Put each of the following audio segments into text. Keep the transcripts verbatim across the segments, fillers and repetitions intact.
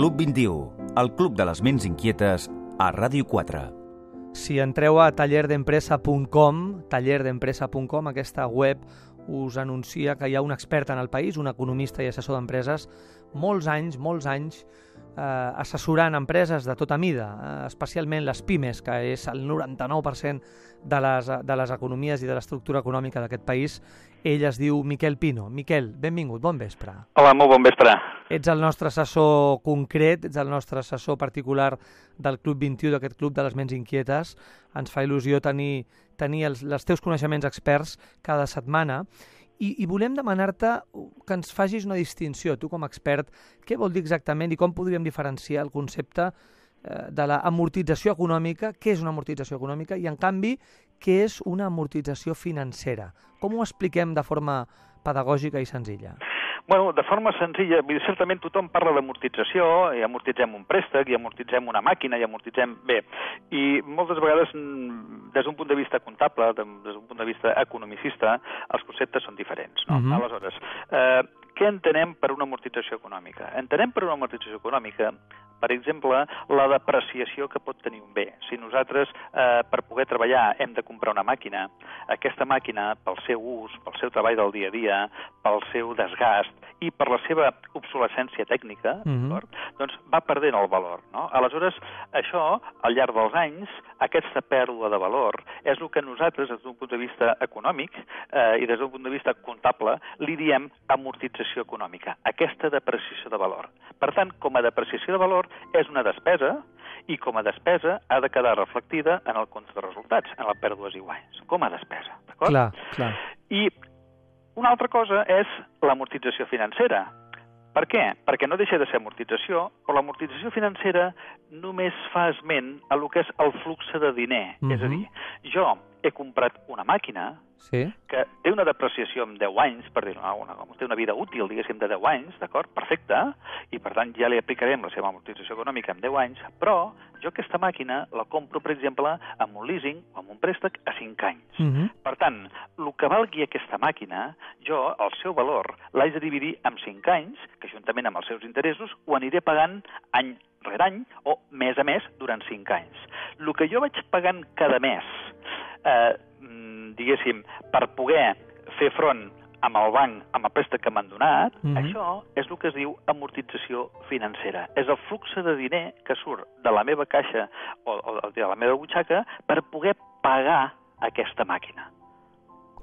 Club vint-i-u, el club de les ments inquietes a Ràdio quatre. Si entreu a taller d'empresa punt com, taller d'empresa punt com, aquesta web us anuncia que hi ha un expert en el país, un economista i assessor d'empreses, molts anys, molts anys, eh, assessorant empreses de tota mida, eh, especialment les pimes, que és el noranta-nou per cent de les, de les economies i de l'estructura econòmica d'aquest país. Ell es diu Miquel Pino. Miquel, benvingut, bon vespre. Hola, molt bon vespre. Ets el nostre assessor concret, ets el nostre assessor particular del Club vint-i-u, d'aquest club de les ments inquietes. Ens fa il·lusió tenir, tenir els, els teus coneixements experts cada setmana. I, i volem demanar-te que ens facis una distinció, tu com a expert, què vol dir exactament i com podríem diferenciar el concepte eh, de l'amortització econòmica, què és una amortització econòmica i, en canvi, què és una amortització financera. Com ho expliquem de forma pedagògica i senzilla? Bueno, de forma senzilla, certament tothom parla d'amortització, i amortitzem un préstec, i amortitzem una màquina, i amortitzem... Bé, i moltes vegades, des d'un punt de vista comptable, des d'un punt de vista economicista, els conceptes són diferents, no? Uh-huh. Aleshores, eh, què entenem per una amortització econòmica? Entenem per una amortització econòmica, per exemple, la depreciació que pot tenir un bé. Si nosaltres, eh, per poder treballar, hem de comprar una màquina, aquesta màquina, pel seu ús, pel seu treball del dia a dia, pel seu desgast i per la seva obsolescència tècnica, uh-huh. doncs va perdent el valor, no? Aleshores, això, al llarg dels anys, aquesta pèrdua de valor és el que nosaltres, des d'un punt de vista econòmic eh, i des d'un punt de vista comptable, li diem amortització econòmica, aquesta depreciació de valor. Per tant, com a depreciació de valor, és una despesa i com a despesa ha de quedar reflectida en el compte de resultats, en la pèrdues i guanys, com a despesa, d'acord? Clar, clar. I una altra cosa és l'amortització financera. Per què? Perquè no deixa de ser amortització, però l'amortització financera només fa esment a lo que és el flux de diner. Uh-huh. És a dir, jo he comprat una màquina sí. que té una depreciació en deu anys, per dir-ho, una, té una vida útil, diguéssim, de deu anys, d'acord? Perfecte, i per tant ja li aplicarem la seva amortització econòmica en deu anys, però jo aquesta màquina la compro, per exemple, amb un leasing o amb un préstec a cinc anys. Uh-huh. Per tant, el que valgui aquesta màquina, jo, el seu valor, l'haig de dividir en cinc anys, que juntament amb els seus interessos ho aniré pagant any rere any o mes a mes durant cinc anys. El que jo vaig pagant cada mes, eh, diguéssim, per poder fer front amb el banc, amb el préstec que m'han donat, mm-hmm. això és el que es diu amortització financera. És el flux de diner que surt de la meva caixa o, o de la meva butxaca per poder pagar aquesta màquina.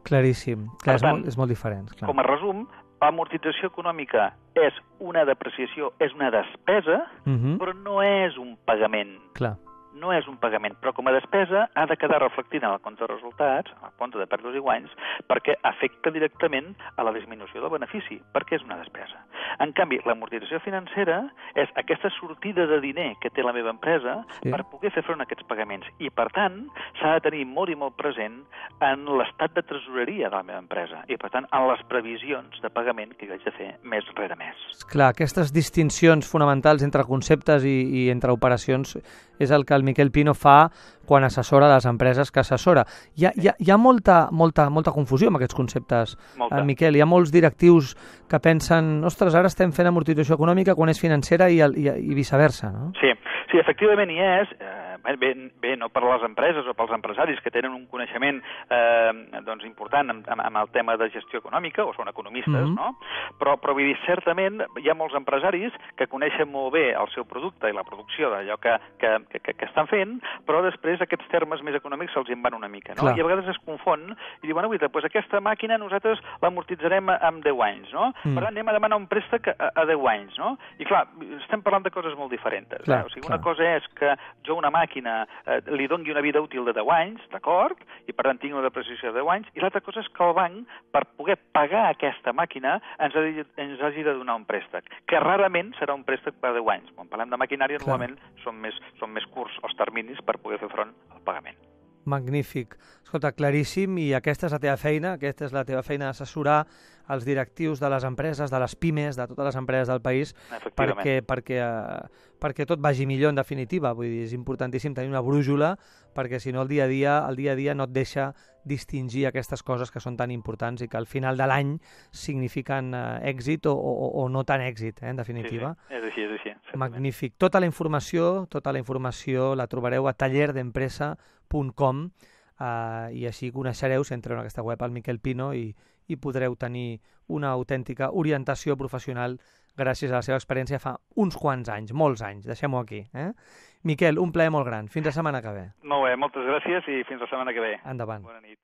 Claríssim. Clar, és, tant, molt, és molt diferent. Clar. Com a resum, l'amortització econòmica és una depreciació, és una despesa, mm-hmm. però no és un pagament. Clar. No és un pagament, però com a despesa ha de quedar reflectida en el compte de resultats, en el compte de pèrdues i guanys, perquè afecta directament a la disminució del benefici, perquè és una despesa. En canvi, l'amortització financera és aquesta sortida de diner que té la meva empresa sí. per poder fer front a aquests pagaments. I, per tant, s'ha de tenir molt i molt present en l'estat de tresoreria de la meva empresa i, per tant, en les previsions de pagament que jo haig de fer mes rere mes. Clar, aquestes distincions fonamentals entre conceptes i, i entre operacions és el que el Miquel Pino fa quan assessora les empreses que assessora. Hi ha, hi ha, hi ha molta, molta, molta confusió amb aquests conceptes, eh, Miquel. Hi ha molts directius que pensen, ostres, ara estem fent amortització econòmica quan és financera i, i, i viceversa, no? Sí, sí, efectivament hi és. Eh, bé, bé, no per les empreses o pels empresaris que tenen un coneixement eh, doncs important amb, amb el tema de gestió econòmica, o són economistes, mm-hmm. no? Però, però vull dir, certament hi ha molts empresaris que coneixen molt bé el seu producte i la producció d'allò que, que, que, que estan fent, però després aquests termes més econòmics se'ls en van una mica, no? Clar. I a vegades es confon i diuen, bueno, doncs aquesta màquina nosaltres l'amortitzarem en deu anys, no? Mm. Per tant, anem a demanar un préstec a, a deu anys, no? I clar, estem parlant de coses molt diferents. Clar, eh? O sigui, clar. Una cosa és que jo una màquina eh, li doni una vida útil de deu anys, d'acord? I per tant tinc una depreciació de deu anys, i l'altra cosa és que el banc, per poder pagar aquesta màquina, ens, ha de, ens hagi de donar un préstec, que rarament serà un préstec per deu anys. Quan parlem de maquinària, clar. Normalment són més, són més curts els terminis per poder fer front al pagament. Magnífic. Escolta, claríssim, i aquesta és la teva feina, aquesta és la teva feina d'assessorar els directius de les empreses, de les pimes, de totes les empreses del país, perquè, perquè, uh, perquè tot vagi millor en definitiva. Vull dir, és importantíssim tenir una brújula, perquè si no el dia a dia, el dia a dia no et deixa distingir aquestes coses que són tan importants i que al final de l'any signifiquen eh, èxit o, o, o no tan èxit, eh, en definitiva. Sí, sí. És així, és així. Certament. Magnífic. Tota la informació, tota la informació la trobareu a taller d'empresa punt com eh, i així coneixereu, si entreu en aquesta web, al Miquel Pino i, i podreu tenir una autèntica orientació professional gràcies a la seva experiència fa uns quants anys, molts anys, deixem-ho aquí. Eh? Miquel, un plaer molt gran. Fins la setmana que ve. Molt bé, moltes gràcies i fins la setmana que ve. Endavant. Bona nit.